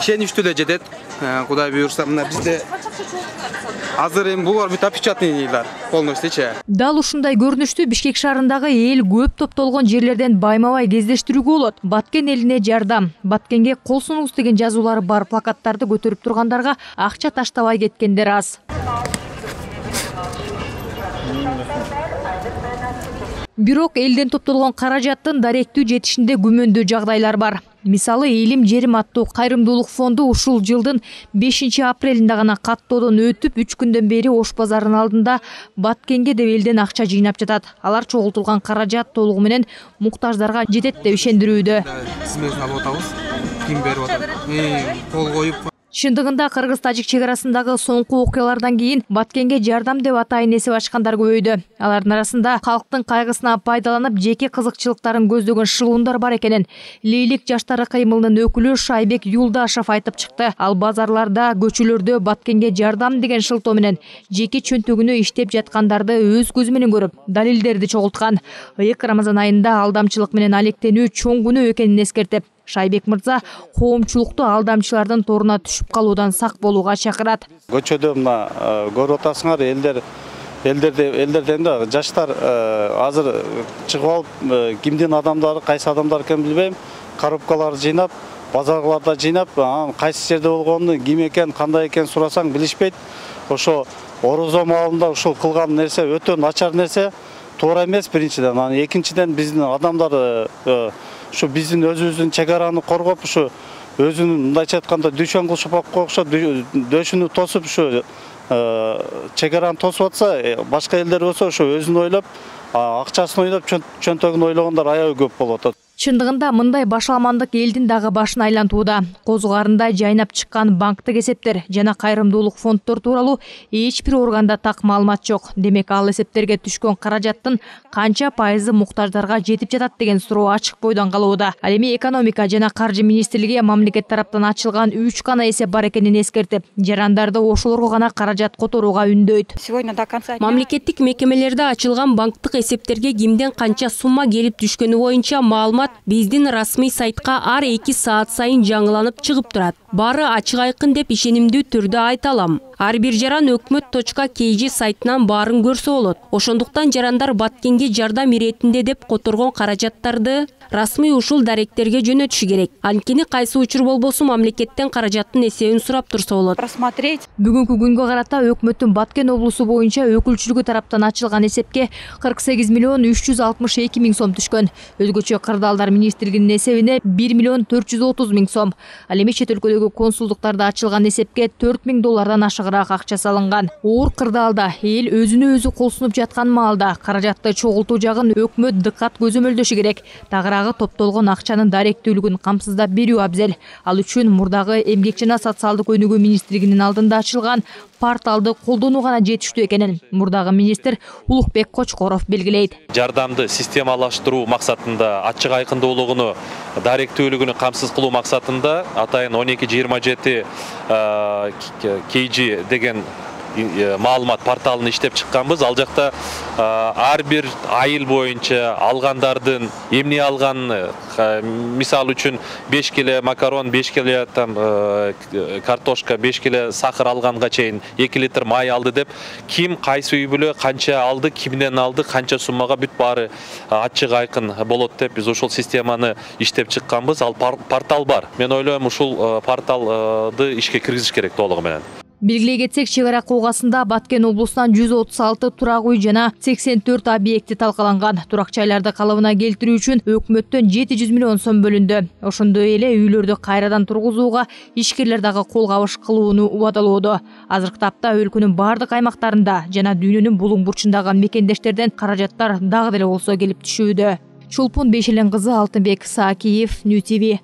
ишеничтүү эле жетет. Кудай буйрса, мына бизде азыр эми булар бүт опечатныйлар полностью. Дал ушундай көрүнүштү Бишкек шаарындагы эл көп топтолгон жерлерден байма-бай кездештирүүгө болот. Баткен элине жардам, Баткенге кол сунуңуз деген жазуулары бар плакаттарды көтөрүп тургандарга акча таштабай кеткендер аз. Бирок элден топтолгон каражаттын даректүү жетишинде күмөндүү жагдайлар бар. Мисалы, Элим жерим аттуу кайрымдуулук фонду ушул жылдын 5-апрелинде гана каттоодон өтүп, 3 күндөн бери Ош базарынын алдында Баткенге деп элден акча жыйнап жатат. Алар чогултулган каражат толугу менен муктаждарга жетет деп ишендирүүдө. Сиз менен алып атабыз. Ким берип атат? Кол коюп. Чындыгында кыргыз-тажик чек арасындагы соңку окуялардан кийин Баткенге жардам деп атайын эсеп ачкандар көбөйдү. Алардын арасында калктын кайгысына пайдаланып жеке кызыкчылыктарын көздөгөн шылуундар бар экенин Лейлик жаштары кыймылынын өкүлү Шайбек Юлдашев айтып чыкты. Ал базарларда, көчөлөрдө Баткенге жардам деген шылтоо менен жеке чөнтөгүнө иштеп жаткандарды өз көзү менен көрүп, далилдерди чогулткан. Ыйык Рамазан айында алдамчылык менен алектенүү чоң күнөө экенин эскертип, Шайбек мырза коомчулукту алдамчылардын торуна түшүп калуудан сак болууга чакырат. Көчөдө мына көрүп атасыңар, элдерден да жаштар азыр чыгып алып, кимдин адамдары, кайсы адамдар экенин билбейм, коробкаларды жыйнап, базарларда жыйнап, кайсы жерде болгонун, ким экен, кандай экен сурасаң билишпейт. Ошо орозо маалында ушул кылган нерсе өтө начар нерсе, туура эмес биринчиден. Анан экинчиден биздин адамдар ушу биздин өзүбүздүн чек араны коргоп, ушу өзүнүн мындайча айтканда дүйшөн кылышып койгуша, дөшүнү тосуп, ушу чек араны тосуп атса, башка элдер болсо ушу өзүн ойлоп, акчасын ойлоп, чөнтөгүн ойлогондор аябай көп болуп атат. Чындыгында мындай башаламандык элдин дагы башын айлантууда. Козугарында жайнап чыккан банктык эсептер жана кайрымдуулук фонддор тууралуу эч бир органда так маалымат жок. Демек, ал эсептерге түшкөн каражаттын канча пайызы муктаждарга жетип жатат деген суроо ачык бойдон калууда. Ал эми экономика жана каржы министрлиги мамлекет тараптан ачылган 3 гана эсеп бар экенин эскертип, жарандарды ошолорго гана каражат которууга үндөйт. Мамлекеттик мекемелерде ачылган банктык эсептерге кимден канча сумма келип түшкөнү боюнча маалымат биздин расмий сайтка ар 2 саат сайын жаңыланып чыгып турат. Бары ачык айкын деп ишенимдүү түрдө айта алам. Ар бир жаран өкмөт.kg сайтынан баарын көрсө болот. Ошондуктан жарандар Баткенге жардам иретинде деп которгон каражаттарды расмий ушул даректерге жөнөтүшү керек. Анткени кайсы учур болбосун мамлекеттен каражаттын эсебин сурап турса болот. Бүгүнкү күнгө карата өкмөттүн Баткен облусу боюнча өкүлчүлүгү тараптан ачылган эсепке 48 миллион 362 миң сом түшкөн. Өзгөчө кырдаалдар министрлигинин эсебине 1 миллион 430 миң сом. Ал эми чет өлкөдөгү консулдуктарда ачылган эсепке 4 миң доллардан ашыгыраак акча салынган. Оор кырдаалда эл өзүнө өзү кол сунуп жаткан маалда каражатты чогултуу жагын өкмөт дыкат көзөмөлдөшү керек. Тагыраагы топтолгон акчанын даректүүлүгүн камсыздап берүү абзел. Ал үчүн мурдагы эмгек жана социалдык өнүгүү министрлигинин алдында ачылган порталды колдонуу гана жетиштүү экенин мурдагы министр Улукбек Кочкоров белгилейт. Жардамды системалаштыруу максатында, ачык айкындуулугуну, даректүүлүгүнү камсыз кылуу максатында атайын 1227 kg деген маалымат порталын иштеп чыкканбыз. Ал жакта ар бир айыл боюнча алгандардын эмне алганын, мисалы үчүн 5 келе макарон, 5 келе картошка, 5 келе сахар алганга чейин 2 литр май алды деп, ким кайсы үй бүлө канча алды, кимден алды, канча суммага бүт баары ачык айкын болот деп биз ушул системаны иштеп чыкканбыз. Ал портал бар. Мен ойлойм, ушул порталды ишке киргизиш керек толугу менен. Белгилей кетсек, чек ара кылгасында Баткен облусунан 136 турак үй жана 84 объекти талкаланган. Турак жайларды калыбына келтирүү үчүн өкмөттөн 700 миллион сом бөлүндү. Ошондой эле үйлөрдү кайрадан тургузууга ишкерлер дагы кол кабыш кылууну убадалоодо. Азыркы тапта өлкөнүн бардык аймактарында жана дүйнөнүн булуң бурчундагы мекендештерден каражаттар дагы деле болсо келип түшүүдө. Чулпун Бешелен кызы, Алтынбек Саакиев, Нью ТВ.